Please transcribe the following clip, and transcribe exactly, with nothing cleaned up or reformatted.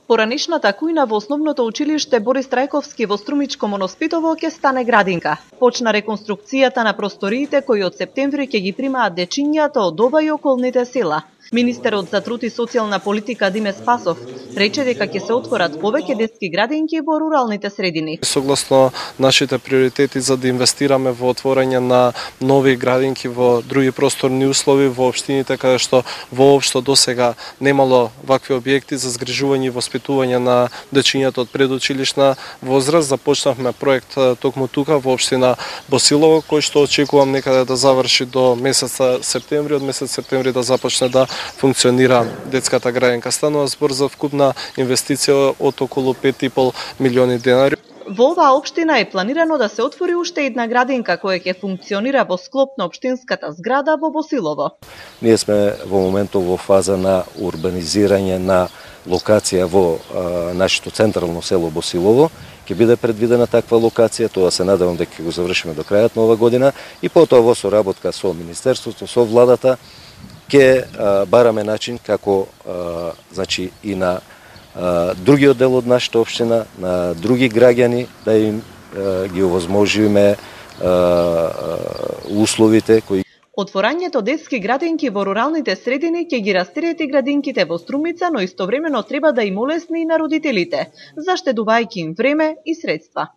Поранешната кујна во основното училиште Борис Трајковски во Струмичко Моноспитово ќе стане градинка. Почна реконструкцијата на просториите кои од септември ќе ги примаат дечињата од ова и околните села. Министерот за труд и социјална политика Диме Спасов рече дека ќе се отворат повеќе детски градинки во руралните средини. Согласно нашите приоритети за да инвестираме во отворање на нови градинки во други просторни услови во општините каде што воопшто досега немало вакви објекти за згрижување и воспитување на дечињата од предучилишна возраст, започнавме проект токму тука во општина Босилово, кој што очекувам некаде да заврши до месец септември, од месец септември да започне да функционира детската градинка. Станува збор за вкупна инвестиција од околу пет и пол милиони денари. Во оваа општина е планирано да се отвори уште една градинка која ќе функционира во склоп на општинската зграда во Босилово. Ние сме во моментот во фаза на урбанизирање на локација во а, нашето централно село Босилово. Ќе биде предвидена таква локација, тоа се надевам дека ќе го завршиме до крајот на ова година и потоа во соработка со Министерството, со владата, ќе бараме начин како а, значи и на а, другиот дел од нашата општина, на други граѓани да им а, ги овозможиме а, а, условите кои. Отворањето детски градинки во руралните средини ќе ги растерети градинките во Струмица, но истовремено треба да им олесни и на родителите, заштедувајќи им време и средства.